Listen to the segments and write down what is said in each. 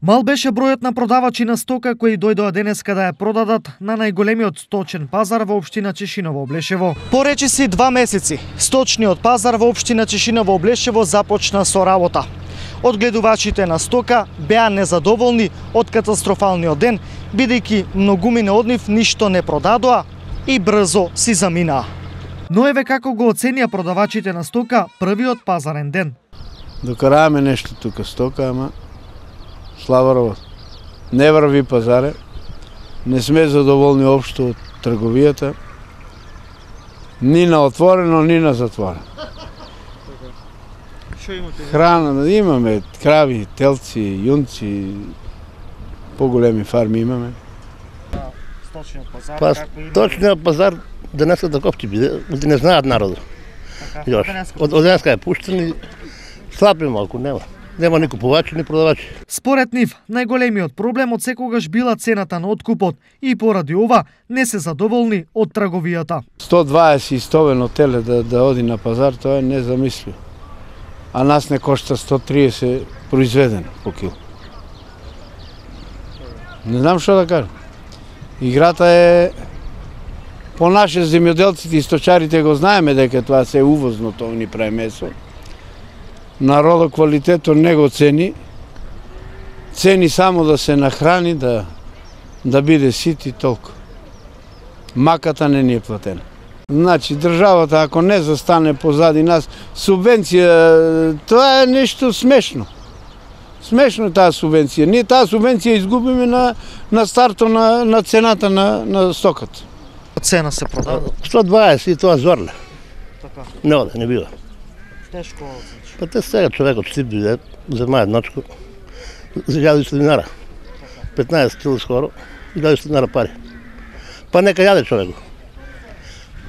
Мал беше бројот на продавачи на стока кои дојдоа денеска да ја продадат на најголемиот сточен пазар во општина Чешиново Облешево. По речиси 2 месеци, сточниот пазар во општина Чешиново Облешево започна со работа. Одгледувачите на стока беа незадоволни од катастрофалниот ден, бидејќи многумина од нив ништо не продадоа и брзо си заминаа. Но еве како го оценија продавачите на стока првиот пазарен ден. Докараме нешто тука стока, ама слава работа. Не врви пазаре, не сме задоволни општо од трговијата, ни на отворено, ни на затворено. Храна имаме, крави, телци, јунци, поголеми фарми имаме. Сточниот пазар денеска таков ќе биде, не знаат народот. Од денеска е пуштен и слаб е малку, нема ни купувачи, ни продавачи. Според нив, најголемиот проблем од секогаш била цената на откупот и поради ова не се задоволни од трговијата. 120 истовено теле да оди на пазар, тоа е незамисливо. А нас не кошта 130 произведен по кил. Не знам што да кажам. Играта е по наше земјоделците и сточарите го знаеме дека тоа се увозно, тоа ни прави месо. Народот квалитетот не го цени. Цени само да се нахрани, да биде сит и толку. Маката не ни е платена. Значи, државата ако не застане позади нас, субвенција, тоа е нешто смешно. Смешно е таа субвенција. Ние таа субвенција изгубиме на старто на цената на стоката. Цена се продава? 120 и тоа зорле. Така. Не оде, не бива. Тешко, значи. Па те сега човекот си биде, зема едночко, за 1000 динара. 15 кил скоро, 1000 динара пари. Па нека јаде човекот.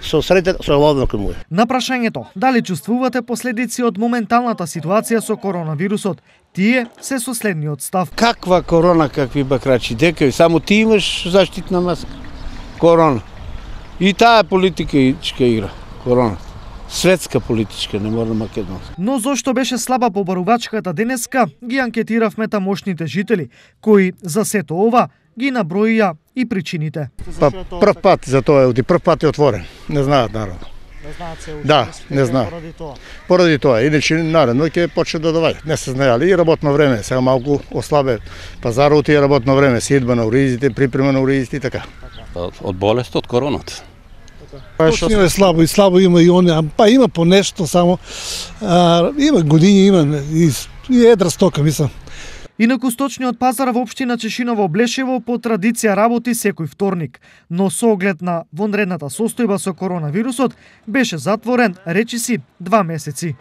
Со среќа, со ловно кај му. На прашањето дали чувствувате последици од моменталната ситуација со коронавирусот, тие се со следниот став. Каква корона, какви бакрачи, дека само ти имаш заштитна маска. Корона. И таа политичка игра, короната. Светска политичка, не мора македонска. Но зошто беше слаба побарувачката денеска, ги анкетиравме тамошните жители, кои за сето ова ги наброија и причините. Па прв пат за тоа е, прв пат е отворен. Не знаат народ. Не знаат се уште. Да, не знаат. Поради тоа. Поради тоа, иначе наредно ќе почне да доаѓаат. Не се знаеле и работно време, сега малку ослабе пазарот и работно време, сидба на уризите, припрема на уризите и така. Од болест, од короната. Точно е слабо и слабо има и он, па има по нешто само, има години, има и едра стока, мислам. Инаку сточниот пазар во општина Чешиново Облешево по традиција работи секој вторник, но со оглед на вонредната состојба со коронавирусот беше затворен речиси 2 месеци.